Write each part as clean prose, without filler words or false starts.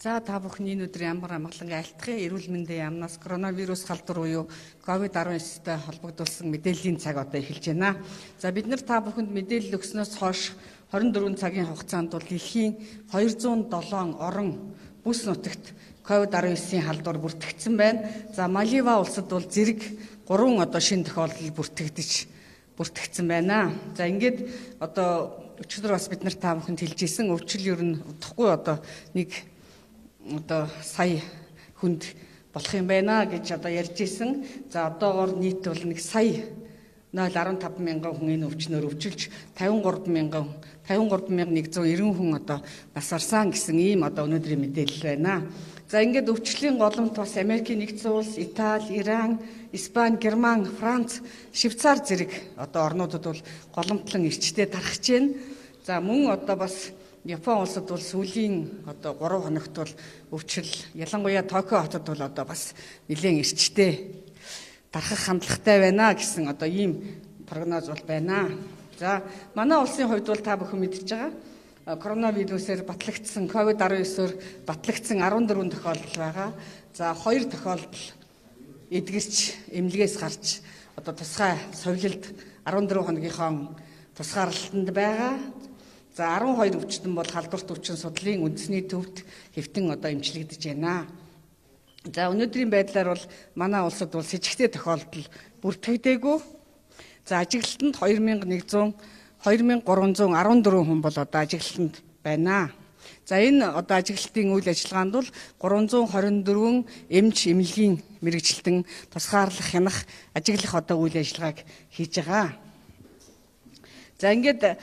За та бүхний өнөөдөр ямар амгалан айлтгая эрүүл мэндийн яамнаас коронавирус халдвар буюу COVID-19-тэй холбогдуулсан мэдээллийн цаг одоо эхэлж байна. За бид нар та бүхэнд мэдээлэл өгснөөс хойш 24 цагийн хугацаанд бол дэлхийн 207 орон бүс нутагт COVID-19-ийн халдвар бүртгэгдсэн байна. За Малива улсад бол зэрэг 3 одоо шинэ тохиолдол бүртгэгдсэн байна. За ингээд одоо өчигдөр бас бид нар та бүхэнд хэлжсэн өвчл ер нь удахгүй одоо нэг сая хүнд болох юм байна гэж одоо ярьж исэн. За одоогоор нийт бол 1 сая 0.15 мянган хүн энэ өвчнөөр өвчилж 53,190 хүн одоо нас барсан гэсэн ийм одоо өнөөдрийн мэдээлэл байна. За ингээд өвчлийн голомт бас Америкийн нэгдсэн улс, Итали, Иран, Испани, Герман, Франц, Швейцар зэрэг одоо орнуудад бол голомтлон эрчтэй тархаж байна. За мөн одоо бас Япон улсад бол сүүлийн одоо 3 хоногт бол өвчл ялангуяа Токио хотод бол одоо бас нэлээд эрчтэй тархах хандлагатай байна гэсэн одоо ийм прогноз бол байна. За манай улсын хувьд бол та бүхэн мэдж байгаа коронавирусээр батлагдсан COVID-19-оор батлагдсан 14 тохиолдол байгаа. За 2 тохиолдол эдгэрч эмнэлгээс гарч одоо тусгай совилалд 14 хоногийнхоо тусгаарлалтанд байгаа. За 12 өвчтөн бол халдварт өвчин судлалын үндэсний төвд хэвтэн одоо эмчлэгдэж байна. За өнөөдрийн байдлаар бол манай улсад бол с 'ижигтэй тохиолдол бүртгэгдээгүй. За ажиглалтанд 2314 хүн бол одоо ажиглалтанд байна. За энэ одоо ажиглалтын үйл ажиллагаанд бол 324 эмч эмнэлгийн мэрэгчлэн тусгаарлах, хянах, ажиглах одоо үйл ажиллагааг хийж байгаа. За ингээд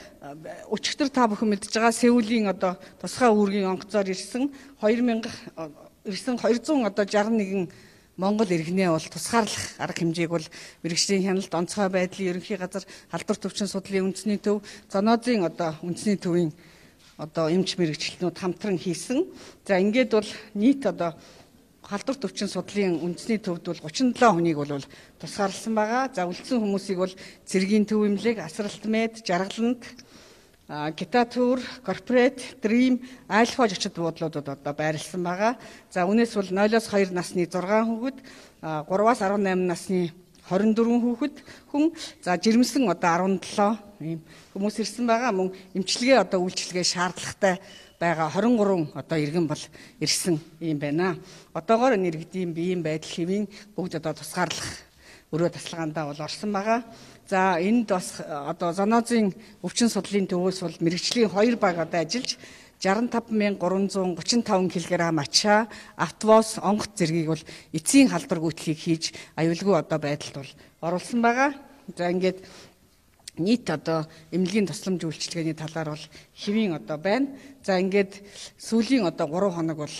өчигдөр та бүхэн мэдж байгаа Сеулийн одоо тусгай үүргийн онгоцоор ирсэн 261 Монгол иргэнээ бол тусгаарлах арга хэмжээг бол мэрэгчлийн хяналт, онцгой байдлын ерөнхий газар, халдварт өвчин судлалын үндэсний төв, зоонозын одоо үндэсний төвийн одоо эмч мэрэгчлэнүүд хамтран хийсэн. За ингээд бол нийт одоо халдварт өвчин судлалын үндэсний төвд бол 37 хүнийг бол тусгаарласан байгаа. За үлдсэн хүмүүсийг бол цэргийн төв эмнэлэг, асралт мед, жаргаланд, Гитатур, корпорат, дрим, айлхоо зочид буудлуудад одоо байрласан байгаа. За үнээс бол 0-2 насны 6 хүүхэд, 3-аас 18 насны 24 хүүхэд хүн, за жирэмсэн одоо 17 ийм хүмүүс ирсэн байгаа. Мөн эмчилгээ одоо үйлчилгээ шаардлагатай байгаа 23 одоо иргэн бол ирсэн юм байна. Одоогоор нэргэдэм биеийн байдал хэвийн бүгд одоо тусгаарлах өрөө тасалгаандаа бол орсон байгаа. За энд бас одоо зоонозын өвчин судлалын төвөөс бол мэрэгжлийн 2 баг одоо ажиллаж 65335 кг ачаа, автовоз, онгоц зэргийг бол эцсийн халдвар гүйтлийг хийж аюулгүй одоо байдалд бол оруулсан байгаа. За ингээд нийт одоо эмнэлгийн тусламж үйлчилгээний талаар бол хэвийн одоо байна. За ингээд сүүлийн одоо 3 хоног бол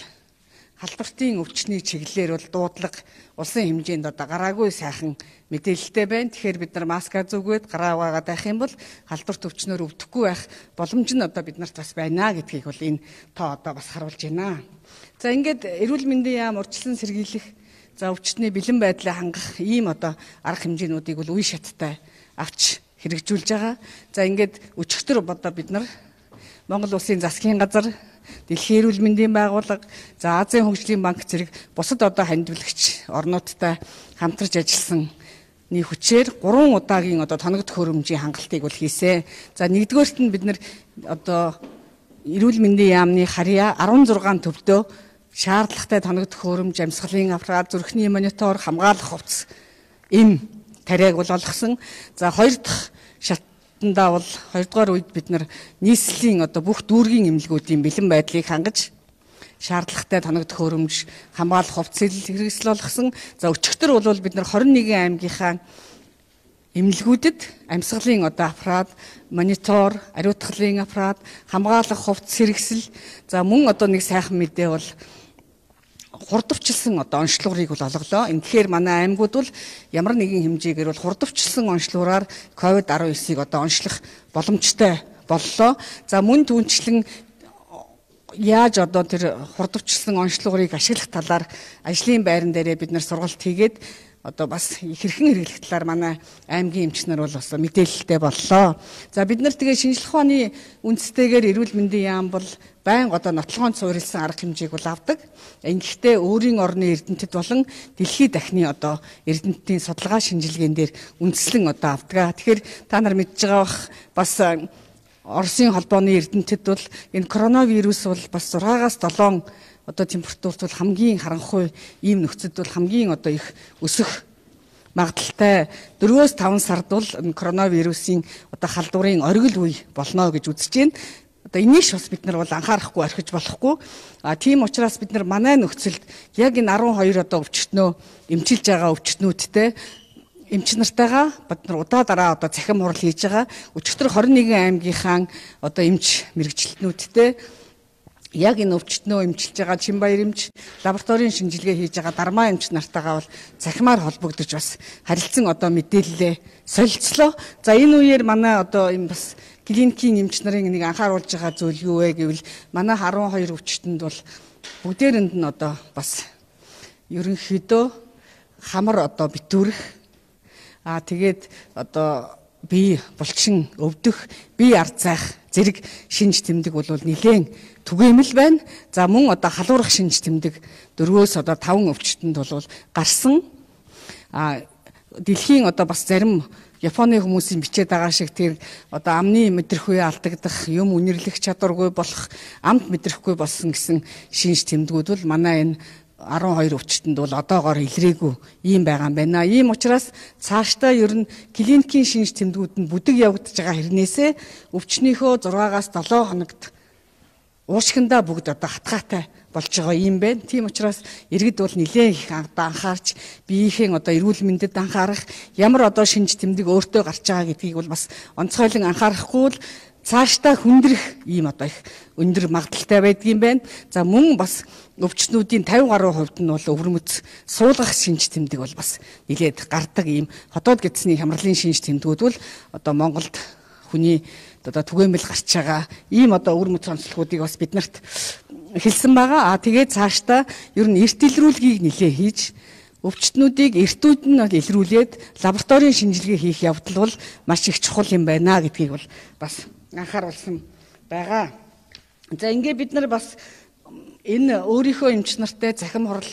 халдвартын өвчний чиглэлээр бол дуудлага улсын хэмжээнд одоо гараагүй сайхан мэдээлэлтэй байна. Тэгэхээр бид нар маска зүгээд гараа угаагаад байх юм бол халдварт өвчнөөр өвдөхгүй байх боломж нь одоо бид нарт бас байна гэдгийг бол энэ тоо одоо бас харуулж байна. За ингээд эрүүл мэндийн яам урьдчилан сэргийлэх, за өвчтний бэлэн байдлаа хангах ийм одоо арга хэмжээнүүдийг бол үе шаттай авч хэрэгжүүлж байгаа. За ингээд өчигдөр одоо бид нар Монгол Улсын засгийн газар, Дэлхийн эрүүл мэндийн байгууллага, за Азийн хөгжлийн банк зэрэг бусад одоо хандивлагч орнуудтай хамтарч ажилласан хүчээр 3 удаагийн одоо тоногдох хөрөмжийн хангалтыг бол хийсэн. За нэгдүгээрт нь бид нар одоо эрүүл мэндийн яамны харьяа 16 төвдөө шаардлагатай тоногдох хөрөмж, амьсгалын аппарат, зүрхний монитор, хамгаалах хувцас тариаг бол олгосон. За 2 дахь шатндаа бол 2 дугаар үед бид нар нийслэлийн одоо бүх дүүргийн эмнэлгүүдийн бэлэн байдлыг хангаж шаардлагатай тоногдох хөрөмж, хамгаалах хувцсыг хэрэгсэл болгосон. За өчигдөр бол бид нар 21 аймгийнхаа эмнэлгүүдэд амьсгалын одоо аппарат, монитор, ариутгалын аппарат, хамгаалах хувцс хэрэгсэл, за мөн одоо нэг сайхан мэдээ бол хурдвчилсан одоо онцлогыг бол олголоо. Тэгэхээр манай аймагуд бол ямар нэгэн хэмжээгээр бол хурдвчилсан онцлогоор COVID-19-ийг одоо онцлох боломжтой боллоо. За мөн түүнчлэн яаж одоо тэр хурдвчилсан онцлогыг ашиглах талаар ажлын байран дээрээ бид нар сургалт хийгээд одоо бас хэрхэн хэрэглэх талаар манай аймгийн эмч нар бол бас мэдээлэлтэй боллоо. За бид нар тэгээ шинжлэх ухааны үндэстэйгээр эрүүл мэндийн яам бол байнга одоо нотлохонд суурилсан арга хэмжээг бол авдаг. Ингэхдээ өөрийн орны эрдэмтэд болон дэлхийн дахны одоо эрдэмтдийн судалгаа шинжилгээн дээр үндэслэн одоо авдаг. Тэгэхээр та нар мэдж байгаа бах бас Оросын холбооны эрдэмтэд бол энэ коронавирус бол бас 6-аас 7 одоо температурт бол хамгийн харанхуй ийм нөхцөд бол хамгийн одоо их өсөх магадaltaй 4-5 сард бол коронавирусын одоо халдварын оргил үе болно гэж үзэж байна. Одоо энийг бас бид нар бол анхаарахгүй орхиж болохгүй. Тийм учраас бид нар манай нөхцөлд яг энэ 12 одоо өвчтнөө эмчилж байгаа өвчтнүүдтэй эмч нартайгаа бид нар удаа дараа одоо цахим хурал хийж байгаа. Өчигдөр 21 аймгийнхаа одоо эмч мэрэгчлэтнүүдтэй яг энэ өвчтнөө эмчилж байгаа Чинбаяр эмч, лабораторийн шинжилгээ хийж байгаа Дармаа эмч нартайгаа бол цахимаар холбогдож бас харилцан одоо мэдээлэлээ солилцлоо. За энэ үеэр манай одоо энэ бас клиникийн эмч нарын нэг анхааруулж байгаа зүйл юу вэ гэвэл манай 12 өвчтөнд бол бүгдээрэнд нь одоо бас ерөнхийдөө хамар одоо битүүрэх тэгээд одоо бие булчин өвдөх, бие ард зайх зэрэг шинж тэмдэг бол нэлээд түгээмэл байна. За мөн одоо халуурах шинж тэмдэг 4-өөс одоо 5 өвчтөнд бол гарсан. Дэлхийн одоо бас зарим Японы хүмүүсийн бичээд байгаа шиг тэр одоо амны мэдрэх үе алдагдах, юм үнэрлэх чадваргүй болох, амт мэдрэхгүй болсон гэсэн шинж тэмдгүүд бол манай энэ 12 өвчтөнд бол одоогоор илрээгүй ийм байгаа юм байна. Ийм учраас цаашдаа ер нь клиникийн шинж тэмдгүүд нь бүдэг явагдаж байгаа хэрнээсээ өвчнийхөө 6-аас 7 хоногт уушгиндаа бүгд одоо хатгаатай болж байгаа юм байна. Тийм учраас иргэд бол нэлээд их анхаарч биеийн одоо эрүүл мэндэд анхаарах, ямар одоо шинж тэмдэг өөртөө гарч байгаа гэдгийг бол бас онцгойлон анхаарахгүй бол цаашдаа хүндрэх ийм одоо их өндөр магадaltaй байдгийн байна. За мөн бас өвчтнүүдийн 50 гаруй хувьд нь бол өвөрмөц суулгах шинж тэмдэг бол бас нэлээд гардаг ийм хотод гэдсний хямралын шинж тэмдгүүд бол одоо Монголд хүний одоо түгээмэл гарч байгаа ийм одоо өвөрмөц онцлогуудыг бас бид нарт хэлсэн байгаа. Тэгээд цаашдаа ер нь эрт илрүүлгийг нэлээ хийж өвчтнүүдийг эртүүд нь илрүүлээд лабораторийн шинжилгээ хийх явдал бол маш их чухал юм байна гэдгийг бол бас анхааруулсан байгаа. За ингээд бид нар бас энэ өөрийнхөө эмч нартай цахим хурал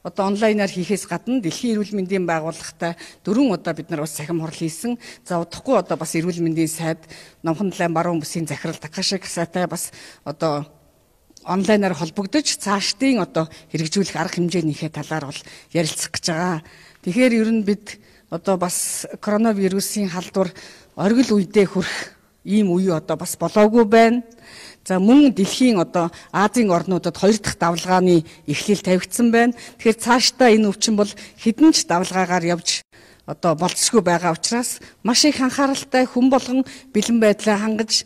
одоо онлайнаар хийхээс гадна Дэлхийн эрүүл мэндийн байгууллагатай 4 удаа бид нар бас цахим хурал хийсэн. За удахгүй одоо бас эрүүл мэндийн сайд Номхон далайн баруун бүсийн захирал Такаши Касатай бас одоо онлайнаар холбогдож цаашдын одоо хэрэгжүүлэх арга хэмжээнийхээ талаар бол ярилцах гэж байгаа. Тэгэхээр ер нь бид одоо бас коронавирусын халдвар оргил үедээ хүрэх ийм үе одоо бас болоогүй байна. За мөн дэлхийн одоо Азийн орнуудад 2 дахь давлгааны эхлэл тавигдсан байна. Тэгэхээр цаашдаа энэ өвчин бол хэдэн ч давлгаагаар явж одоо болцсгүй байгаа учраас маш их анхааралтай хүн болгон бэлэн байдлаа хангаж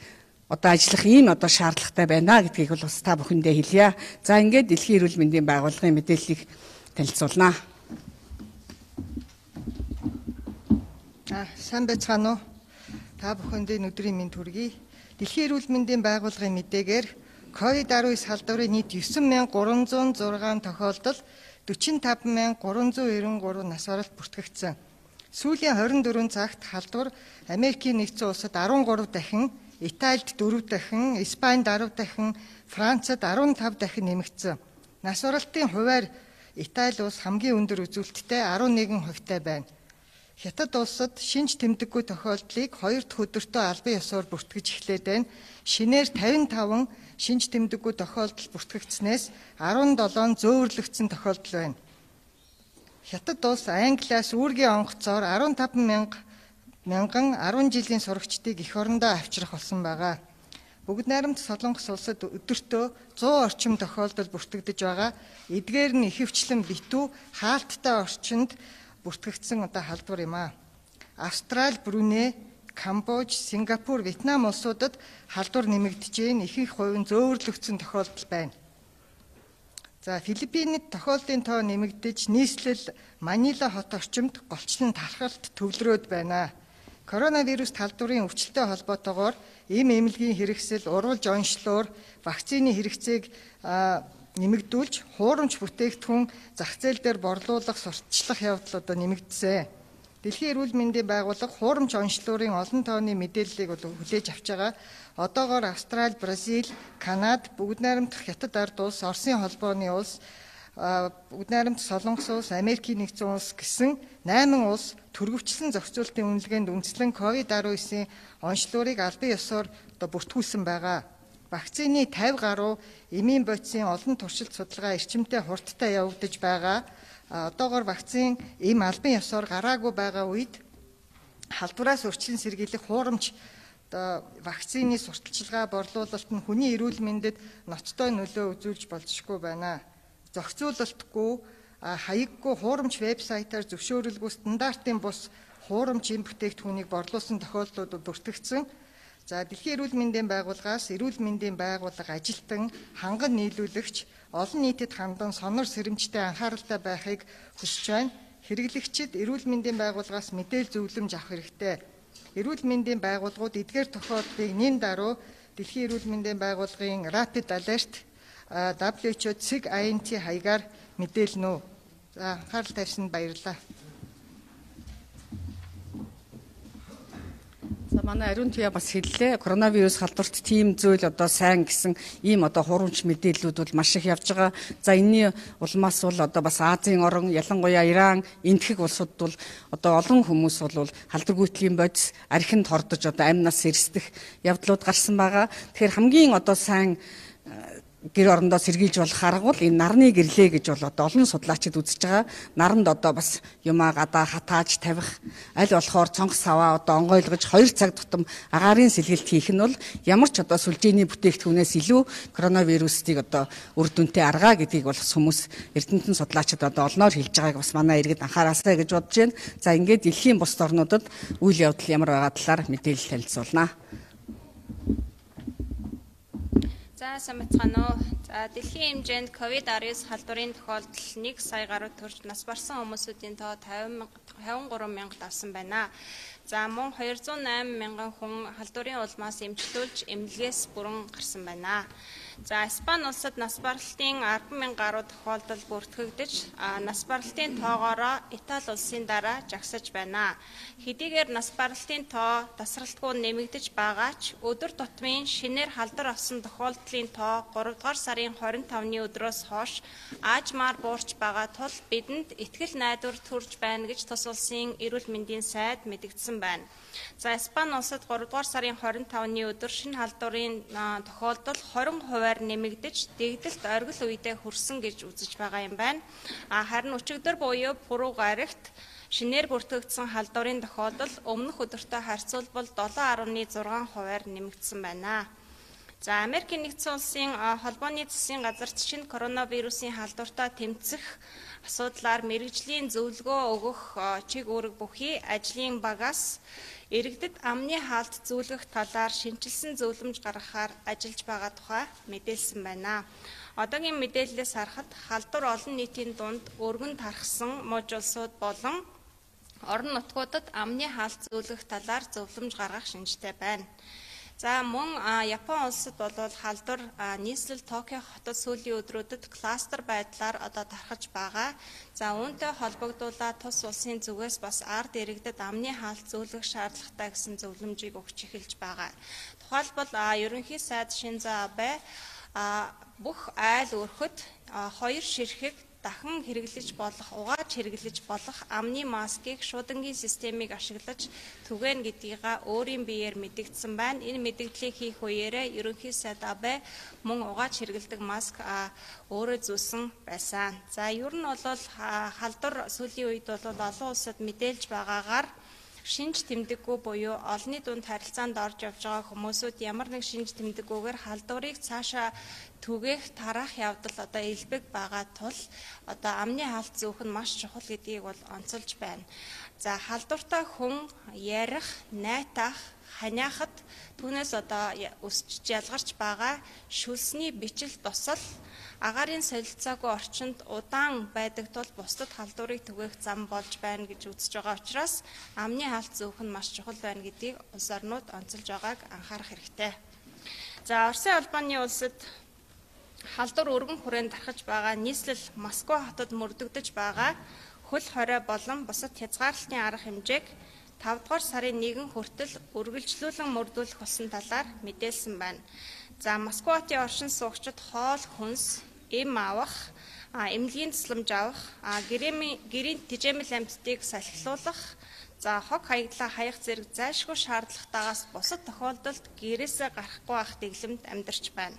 одоо ажиллах ийм одоо шаардлагатай байна гэдгийг бол бас та бүхэндээ хэлье. За ингээд Дэлхийн эрүүл мэндийн байгууллагын мэдээллийг танилцуулнаа. Сайн байцгаана уу? Та бүхэндээ өдрийн мэнд хүргэе. Дэлхийн эрүүл мэндийн байгууллагын мэдээгээр COVID-19 халдварын нийт 9306 тохиолдол 45393 нас баралт бүртгэгдсэн. Сүүлийн 24 цагт халдвар Америкийн нэгдсэн улсад 13 дахин, Италид 4 дахин, Испанид 10 дахин, Францад 15 дахин нэмэгдсэн. Нас баралтын хувиар Итали улс хамгийн өндөр үзүүлэлттэй 11%-тай байна. Хятад улсад шинж тэмдэггүй тохиолдлыг 2 дахь өдөртөө албан ёсоор бүртгэж эхлээд байна. Шинээр 55 шинж тэмдэггүй тохиолдол бүртгэгдснээс 17 зөөвөрлөгдсөн тохиолдол байна. Хятад улс Англиас үүргийн онгоцоор 15 мянган 10 жилийн сурагчдыг эх орондоо авчрах болсон байгаа. Бүгд найрамд Солонгос улсад өдөртөө 100 орчим тохиолдол бүртгэгдэж байгаа. Эдгээр нь ихэвчлэн битүү хаалттай орчинд бүртгэгдсэн одоо халдвар юм а. Австрали, Бруней, Камбож, Сингапур, Вьетнам улсуудад халдвар нэмэгдэж, ихэнх хувь нь зөөвөрлөгдсөн тохиолдол байна. За Филиппинид тохиолдлын тоо нэмэгдэж, нийслэл Манила хот орчимд голчлон талхалт төвлөрөөд байна. Коронавирус халдварын өвчлөлтэй холбоотойгоор эм эмнэлгийн хэрэгсэл, урвалж онцлоор вакцины хэрэгцээг нэмэгдүүлж, хуурамч бүтээгдэхүүн зах зээл дээр борлуулах, сурталчлах явдал одоо нэмэгдсэн. Дэлхийн эрүүл мэндийн байгууллага хуурамч онцлуурын олон тооны мэдээллийг хүлээж авч байгаа. Одоогоор Австрали, Бразил, Канада, бүгд найрамдах Хятад ард улс, Оросын холбооны улс, бүгд найрамдах Солонгос улс, Америкийн нэгдсэн улс гэсэн 8 улс төрөвчлэн зохицуултын үнэлгээнд үндэслэн COVID-19 онцлуурыг албан ёсоор одоо бүртгүүлсэн байгаа. Вакцины 50 гаруй эмийн бодисын олон туршилт судалгаа эрчимтэй хурдтай явагдаж байгаа. Одоогоор вакцин эм албан ёсоор гараагүй байгаа үед халдвараас өрчлөн сэргийлэх хуурамч вакцины сурталчилгаа борлуулалт нь хүний эрүүл мэндэд ноцтой нөлөө үзүүлж болзошгүй байна. Зохицуулалтгүй, хаяггүй хуурамч вебсайтаар зөвшөөрөлгүй стандартын бус хуурамч эм бүтээгдэхүүнийг борлуулсан тохиолдлууд бүртгэгдсэн. За Дэлхийн эрүүл мэндийн байгууллагаас эрүүл мэндийн байгууллага ажилтан, ханган нийлүүлэгч, олон нийтэд хандан сонор сэрэмжтэй анхааралтай байхыг хүсэж байна. Хэрэглэгчид эрүүл мэндийн байгууллагаас мэдээлэл зөвлөмж авах хэрэгтэй. Эрүүл мэндийн байгууллагууд эдгээр тохиолдлыг нэн даруй Дэлхийн эрүүл мэндийн байгууллагын Rapid Alert WHO цэг INT хаягаар мэдээлнэ. За анхаарал тавьсанд баярлалаа. За манай Ариун Туяа бас хэллээ. Коронавирус халдварт тийм зүйл одоо сайн гэсэн ийм одоо хуурамч мэдээллүүд бол маш их явж байгаа. За энэний улмаас бол одоо бас Азийн орн, ялангуяа Иран, энтхэг улсууд бол одоо олон хүмүүс бол халдваргүйтгэлийн бодис архинд хордож одоо амнаас эрсдэх явдлууд гарсан байгаа. Тэгэхээр хамгийн одоо сайн гэр орондоо сэргийлж болох арга бол энэ нарны гэрлээ гэж бол одоо олон судлаачид үзэж байгаа. Наранд одоо бас юмаа гадаа хатааж тавих, аль болохоор цонх саваа одоо онгойлгож 2 цаг тутам агаарын сэлгэлт хийх нь бол ямар ч одоо сүлжээний бүтээгдэхүүнээс илүү коронавирусыг одоо үр дүнтэй аргаа гэдгийг бол хүмүүс эрдэмтэн судлаачид одоо олноор хэлж байгааг бас манай иргэд анхаараасай гэж бодож байна. За ингээд дэлхийн бусад орнуудад үйл явдал ямар байгаа талаар мэдээлэл танилцуулнаа. За сайн бацгаана уу. За дэлхийн хэмжээнд COVID-19 халдварын тохиолдол 1 сая гаруй төрж нас барсан хүмүүсийн тоо 53 мянга давсан байна. За мөн 208 мянган хүн халдварын улмаас эмчлүүлж эмнэлгээс бүрэн гарсан байна. За Испани улсад нас баралтын 10 мянга гаруй тохиолдол бүртгэгдэж, нас баралтын тоогоороо Итали улсын дараа жагсаж байна. Хэдийгээр нас баралтын тоо тасралтгүй нэмэгдэж байгаа ч өдөр тутмын шинээр халдвар авсан тохиолдлын тоо 3 дугаар сарын 25-ны өдрөөс хойш аажмаар буурч байгаа тул бидэнд итгэл найдвар төрж байна гэж тус улсын эрүүл мэндийн сайд мэдгдсэн байна. За Испани улсад 3 дугаар сарын 25-ны өдөр шинэ халдварын тохиолдол 20% хувиар нэмэгдэж, дэгдэлт оргил үедээ хүрсэн гэж үзэж байгаа юм байна. Харин өчигдөр буюу пүрэв гарагт шинээр бүртгэгдсэн халдварын тохиолдол өмнөх өдөртөө харьцуулбал 7.6 хувиар нэмэгдсэн байна. За Америкийн нэгдсэн улсын холбооны засгийн газарт шинэ коронавирусын халдвартай тэмцэх асуудлаар мэргэжлийн зөвлөгөө өгөх чиг үүрэг бүхий ажлын багаас иргэдэд амны хаалт зөвлөх талаар шинжилсэн зөвлөмж гаргахаар ажиллаж байгаа тухай мэдээлсэн байна. Одоогийн мэдээллээс харахад халдвар олон нийтийн дунд өргөн тархсан муж улсууд болон орон нутгуудад амны хаалт зөвлөх талаар зөвлөмж гаргах шинжтэй байна. За мөн Япон улсад бол халдвар нийслэл Токио хотод сүүлийн өдрүүдэд кластер байдлаар одоо тархаж байгаа. За үүнтэй холбогдуулаад тус улсын зүгээс бас ард иргэдэд амны хаалт зөвлөх шаардлагатай гэсэн зөвлөмжийг өгч эхэлж байгаа. Тухайлбал ерөнхий сайд Шинзо Абе бүх айл өрхөд 2 ширхэг дахин хэрэглэж болох, угааж хэрэглэж болох амны маскыг шуудангийн системийг ашиглаж түгэн гэдгийг өөрийн биеэр мэдэгдсэн байна. Энэ мэдэгдлийг хийх үеэрээ ерөнхий сайд Абе мөн угааж хэрэглэдэг маск өөрөө зүүсэн байсан. За ер нь бол халдвар сүүлийн үед бол олон улсад мэдээлж байгаагаар шинж тэмдэггүй буюу олонний дунд харилцаанд орж явж байгаа хүмүүсүүд ямар нэг шинж тэмдэггүйгээр халдварыг цаашаа түгээх тараах явдал одоо илбэг байгаа тул одоо амны хаалт зүүх нь маш чухал гэдгийг бол онцолж байна. За халдвартай хүн ярих, найтах, ханиахад түүнээс одоо өсч ялгарч байгаа шүлсний бичил тусал агаарын солилцоогүй орчинд удаан байдаг тул бусдад халдварыг түгээх зам болж байна гэж үзэж байгаа учраас амны хаалт зүүх нь маш чухал байна гэдгийг улс орнууд онцолж байгааг анхаарах хэрэгтэй. За Оросын улбаны улсад халдвар өргөн хүрээнд тархаж байгаа нийслэл Москва хотод мөрдөгдөж байгаа хөл хорой болон бусад хязгаарлалтын арга хэмжээг 5 дугаар сарын 1 хүртэл үргэлжлүүлэн мөрдүүлэх болсон талаар мэдээлсэн байна. За Москва хотын оршин суугчид хоол хүнс, эм авах, эмнэлгийн тусламж авах, гэрийн тэжээмэл амьтдыг салхилуулах, за хог хаягдлаа хаях зэрэг зайлшгүй шаардлагатаагаас бусад тохиолдолд гэрээсээ гарахгүй байх дэглэмд амьдарч байна.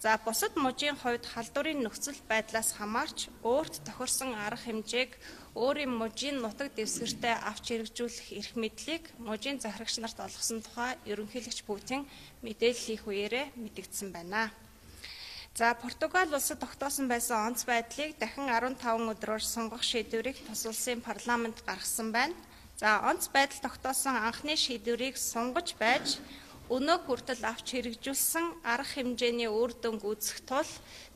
За бусад мужийн хувьд халдварын нөхцөл байдлаас хамаарч өөрт тохирсон арга хэмжээг өөрийн мужийн нутаг дэвсгэртээ авч хэрэгжүүлэх эрх мэдлийг мужийн захирагч нарт олгосон тухай ерөнхийлөгч Путин мэдээлэл хийх үеэрээ мэдэгдсэн байна. За Португал улсад тогтоосон байсан онц байдлыг дахин 15 өдрөөр сунгах шийдвэрийг тус улсын парламент гаргасан байна. За онц байдал тогтоосон анхны шийдвэрийг сунгаж байж өнөө хүртэл авч хэрэгжүүлсэн арга хэмжээний үр дүнг үзэх тул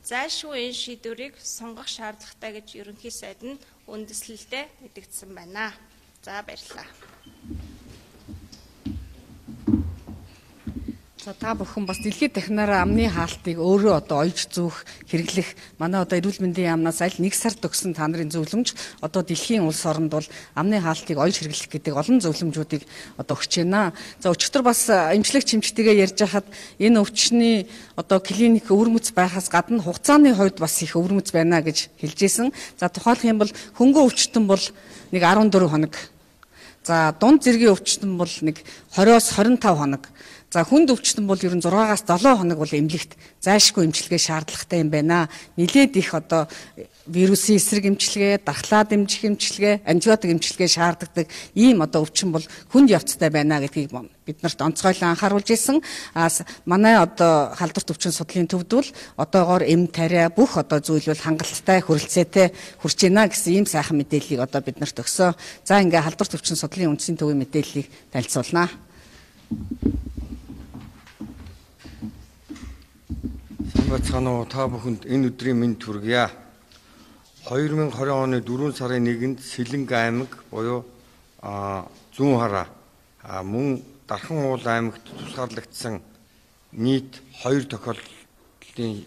зайлшгүй энэ шийдвэрийг сунгах шаардлагатай гэж ерөнхий сайд нь үндэслэлдээ мэдэгдсэн байна. За баярлалаа. За та бүхэн бас дэлхийд дахинаараа амны хаалтыг өөрөө одоо ойж зүүх хэрэглэх манай одоо эрүүл мэндийн яамнаас аль нэг сард өгсөн та нарын зөвлөмж одоо дэлхийн улс оронд бол амны хаалтыг ойж хэрэглэх гэдэг олон зөвлөмжүүдийг одоо өгч байна. За өчигдөр бас эмчлэг чимчтэйгээ ярьж хахад энэ өвчний одоо клиник өвөрмөц байхаас гадна хугацааны хувьд бас их өвөрмөц байна гэж хэлжсэн. За тухайлх юм бол хөнгөн өвчтөн бол нэг 14 хоног. За дунд зэргийн өвчтөн бол нэг 20-оос 25 хоног. За хүнд өвчтөн бол ер нь 6-аас 7 хоног бол эмнэлэгт зайлшгүй эмчилгээ шаардлагатай юм байна. Нилээд их одоо вирусын эсрэг эмчилгээ, дархлаа дэмжих эмчилгээ, антибиотик эмчилгээ шаарддаг ийм одоо өвчин бол хүнд явцтай байна гэдгийг бид нарт онцгойлон анхааруулж ирсэн. Манай одоо халдварт өвчин судлалын төвд бол одоогоор эм тариа бүх одоо зүйл бол хангалттай, хүрэлцээтэй хүрч байна гэсэн ийм сайхан мэдээллийг одоо бид нарт өгсөн. За ингээ халдварт өвчин судлалын үндэсний төвийн мэдээллийг танилцуулнаа. Бацгаано та бүхэнд энэ өдрийн мэнд хүргье. 2020 оны 4 сарын 1-нд Сэлэнг аймаг буюу зүүн хараа мөн Дархан уул аймагт тусгаарлагдсан нийт 2 тохиолдлын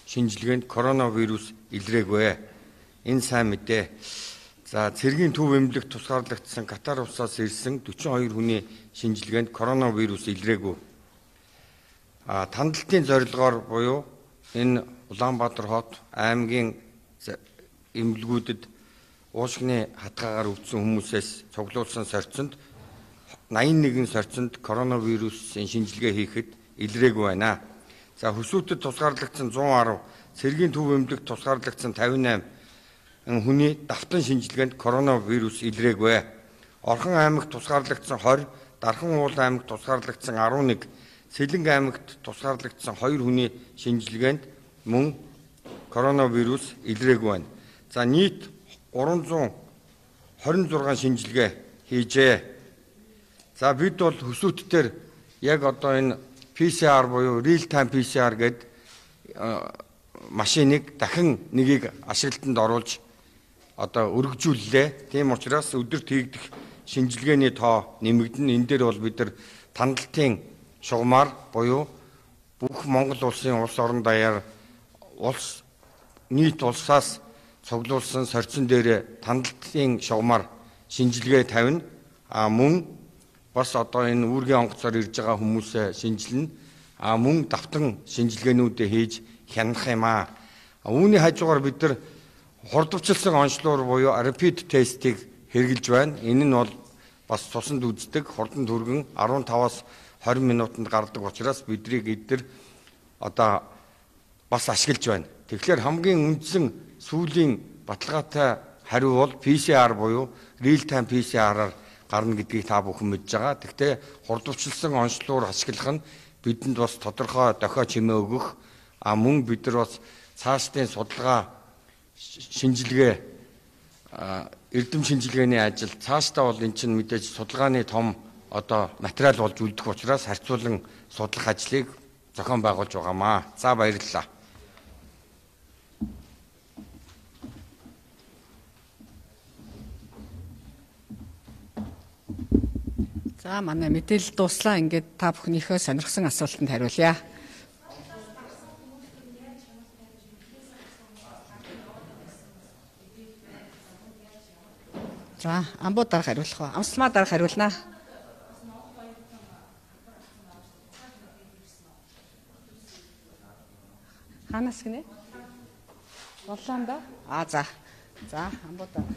шинжилгээнд коронавирус илрээгүй. Энэ сайн мэдээ. За цэргийн төв эмнэлэгт тусгаарлагдсан Катар улсаас ирсэн 42 хүний шинжилгээнд коронавирус илрээгүй. Тандалтын зорилгоор буюу энэ Улаанбаатар хот аймгийн эмнэлгүүдэд уушгины хатгаагаар өвдсөн хүмүүсээс цуглуулсан сорьцонд 81 сорьцонд коронавирусын шинжилгээ хийхэд илрээгүй байна. За хөсөөтөд тусгаарлагдсан 110, цэргийн төв эмнэлэгт тусгаарлагдсан 58 хүний давтан шинжилгээнд коронавирус илрээгүй. Орхон аймагт тусгаарлагдсан 20, Дархан уул аймагт тусгаарлагдсан 11, Сэлэнг аймагт тусгаарлагдсан 2 хүний шинжилгээнд мөн коронавирус илрээгүй байна. За нийт 326 шинжилгээ хийжээ. За бид бол хөсөөтдөр яг одоо энэ PCR буюу real time PCR гэдэг машиныг дахин нэгийг ашиглалтанд оруулж одоо өргөжүүллээ. Тийм учраас өдөрт хийгдэх шинжилгээний тоо нэмэгдэн. Энэ дээр бол бид нар тандалтын шугамар буюу бүх Монгол улсын улс орон даяар нийт улсаас цуглуулсан сорьцон дээр тандалтын шугамар шинжилгээ тавина. Мөн бас одоо энэ үүргийн онгоцоор ирж байгаа хүмүүсээ шинжилнэ. Мөн давтан шинжилгээнүүдээ хийж хянах юм аа. Үүний хажуугаар бид нар хурдвчилсан онцлогоор буюу rapid test-ийг хэрэгжилж байна. Энэ нь бол бас цуснд үздэг хурдан түргэн 15-аас 20 минутанд гардаг учраас бидрийг эдгээр одоо бас ашиглаж байна. Тэгэхээр хамгийн үндсэн сүүлийн баталгаатай хариу бол PCR буюу real time PCR-аар гарна гэдгийг та бүхэн мэдж байгаа. Гэхдээ хурдвчилсан онцлогоор ашиглах нь бидэнд бас тодорхой дохио чимээ өгөх, мөн бид нар бас цаашдын судалгаа шинжилгээ эрдэм шинжилгээний ажил цаашдаа бол эн чинь мэдээж судалгааны том одоо материал болж үлдэх учраас харьцуулан судлах ажлыг зохион байгуулж байгаамаа. За баярлалаа. За манай мэдээлэл дуслаа. Ингээд та бүхнийхөө сонирхсан асуултанд хариулъя. За амбуу дарга хариулах уу? Амсалмаа дарга хариулнаа. Ханаас гинэ? Боллоонда? За. За амбуу дарга.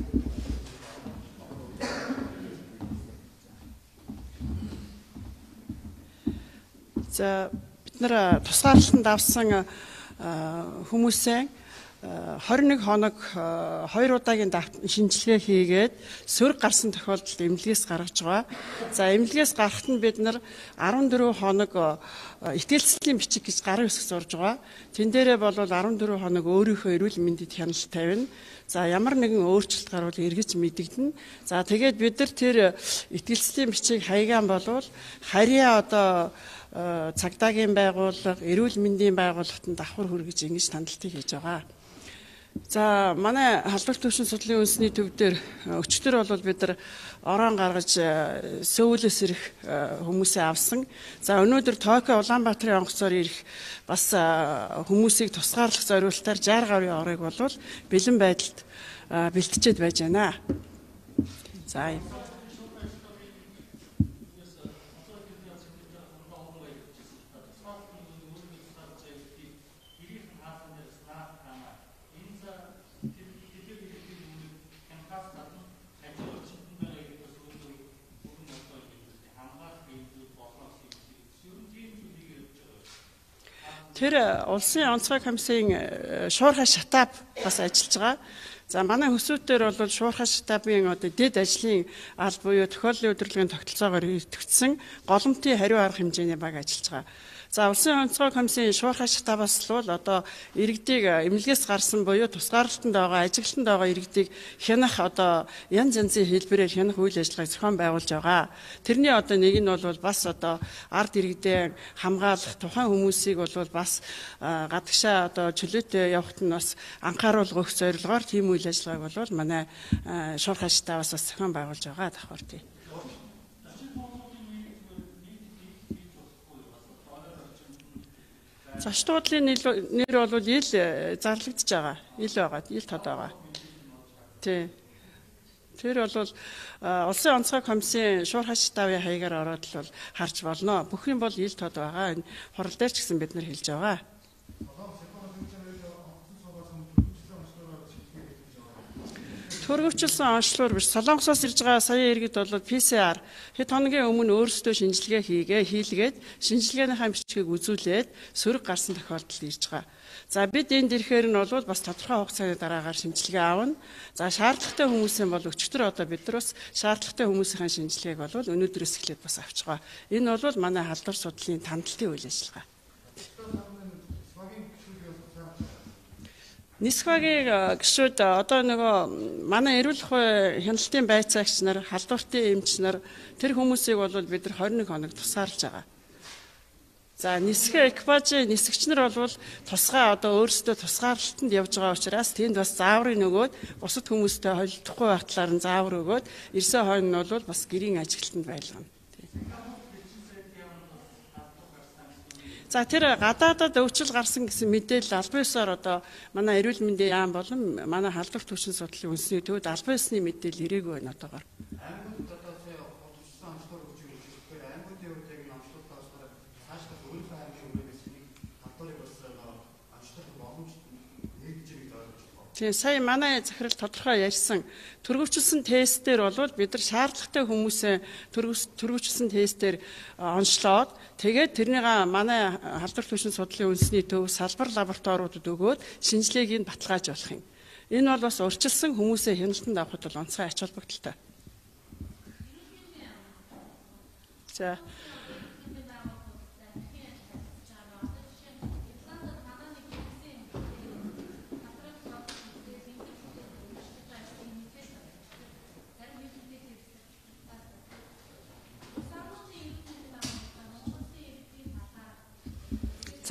За бид нар тусгаарлалтанд авсан хүмүүсээ 21 хоног 2 удаагийн шинжилгээ хийгээд сөрөг гарсан тохиолдолд эмнэлгээс гаргаж байгаа. За эмнэлгээс гарахад нь бид нар 14 хоног итгэлцлийн бичиг гэж гарын хэсэг зурж байгаа. Тэн дээрээ бол 14 хоног өөрийнхөө эрүүл мэндэд хяналт тавина. За ямар нэгэн өөрчлөлт гарвал эргэж мэдэгдэнэ. За тэгээд бид нар тэр итгэлцлийн бичиг хаягаан болвол харьяа одоо цагдаагийн байгууллага, эрүүл мэндийн байгууллагад давхар хүргэж ингэж тандалтыг хийж байгаа. За манай халдварт төвшин судлалын үндэсний төв дээр өчтөр бол бид нар орон гаргаж Сөүлээс ирэх хүмүүсээ авсан. За өнөөдөр Токио Улаанбаатарын онгоцоор ирэх бас хүмүүсийг тусгаарлах зорилтоор 60 гаруй орыг бол бэлэн байдалд бэлтжээд байж байна. За тэр улсын онцгой комиссийн шуурхай шатааб бас ажиллаж байгаа. За манай хөсөөтдөр бол шуурхай шатаабын одоо дэд ажлын аль буюу тохиоллын удирдлагын тогтолцоогоор идэвхжсэн голомтын хариу арга хэмжээний баг ажиллаж байгаа. За улсын онцгой комиссийн шуурхай шатаабаас л одоо иргэдийг эмнэлгээс гарсан буюу тусгаарлалтанд байгаа, ажиглалтанд байгаа иргэдийг хянах одоо янз янзын хэлбэрээр хянах үйл ажиллагааг зохион байгуулж байгаа. Тэрний одоо нэг нь бол бас одоо ард иргэдээ хамгаалах тухайн хүмүүсийг бол бас гадагшаа одоо чөлөөтэй явахт нь бас анхааруулга өгөх зорилгоор тийм үйл ажиллагааг бол манай шуурхай шатаабаас бас зохион байгуулж байгаа давхар тий. Зочд буудлын нэр бол ил зарлагдж байгаа. Ил байгаа. Ил тод байгаа. Тий. Тэр бол улсын онцгой комиссийн шуурхай шатаабын хаягаар ороод л бол харж болно. Бүх юм бол ил тод байгаа. Энэ хурал дээр ч гэсэн бид нар хэлж байгаа. Төрөвчлсөн онцлогоор биш Солонгосоос ирж байгаа сая иргэд бол PCR хэд хоногийн өмнө өөрсдөө шинжилгээ хийлгээд шинжилгээнийхаа бичгийг үзүүлээд сөрөг гарсан тохиолдолд ирж байгаа. За бид энд ирэхээр нь бол бас тодорхой хугацааны дараагаар шинжилгээ аавна. За шаардлагатай хүмүүсийн бол өчтөр одоо бид нар бас шаардлагатай хүмүүсийн шинжилгээг бол өнөөдрөөс эхлээд бас авч байгаа. Энэ бол манай халдвар судлалын тандалтын үйл ажиллагаа. Нисхагийн гишүүд одоо нөгөө манай эрүүл ухааны хяналтын байцаагч нар, халдвартын эмч нар тэр хүмүүсийг бол бид нар 21 хоног тусгаарлаж байгаа. За нисхэ экипажийн нисгч нар бол тусгай одоо өөрсдөө тусгаарлалтанд явж байгаа учраас тэнд бас зааврын нөгөөд бусад хүмүүстэй холилдохгүй байх талаар нь заавар өгөөд ерсөө хойно нь бол бас гэрийн ажиглалтанд байлгана. За тэр гадаадад өвчл гарсан гэсэн мэдээлэл албан ёсоор одоо манай эрүүл мэндийн яам болон манай халдвар түвшин судлалын үндэсний төвд албан ёсны мэдээлэл ирээгүй байна одоогоор. Тэгээ сая манай захирал тодорхой ярьсан төрөвчлсөн тестээр бол бид нар шаардлагатай хүмүүсээ төрөвчлсөн тестээр онцлоод тэгээд тэрнийг манай халдвар түвшин судлалын үндэсний төв салбар лабораториудад өгөөд шинжилгээг нь баталгаажуулах юм. Энэ бол бас урьдчилсан хүмүүсээ хяналтанд авахд бол онцгой ач холбогдолтой. За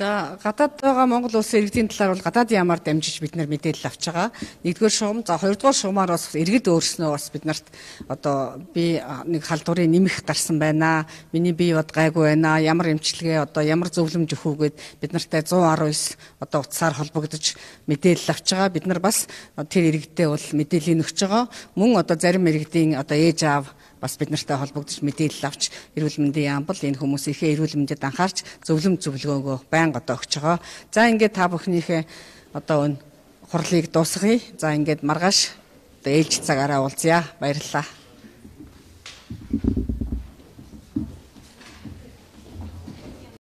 За гадаад байгаа Монгол улсын иргэдийн талаар бол гадаадын ямаар дамжиж бид нар мэдээлэл авч байгаа. Нэгдүгээр шугам, за хоёрдугаар шугамаар бас иргэд өөрснөө бас биднэрт одоо би нэг халдварыг нэмэх гарсан байна. Миний бие бод гайгүй байна. Ямар эмчилгээ одоо ямар зөвлөмж өгөх үгээд бид нартай 119 одоо утсаар холбогдож мэдээлэл авч байгаа. Бид нар бас тэр иргэдээ бол мэдээлэл өгч байгаа. Мөн одоо зарим иргэдийн одоо ээж аав бас бид нартай холбогдож мэдээлэл авч эрүүл мэндийн яам бол энэ хүмүүсийнхээ эрүүл мэндэд анхаарч зөвлөмж зөвлөгөөгөө байнга одоо өгч байгаа. За ингээд та бүхнийхээ одоо хурлыг дуусгая. За ингээд маргааш одоо ээлж цагаараа уулзъя. Баярлалаа.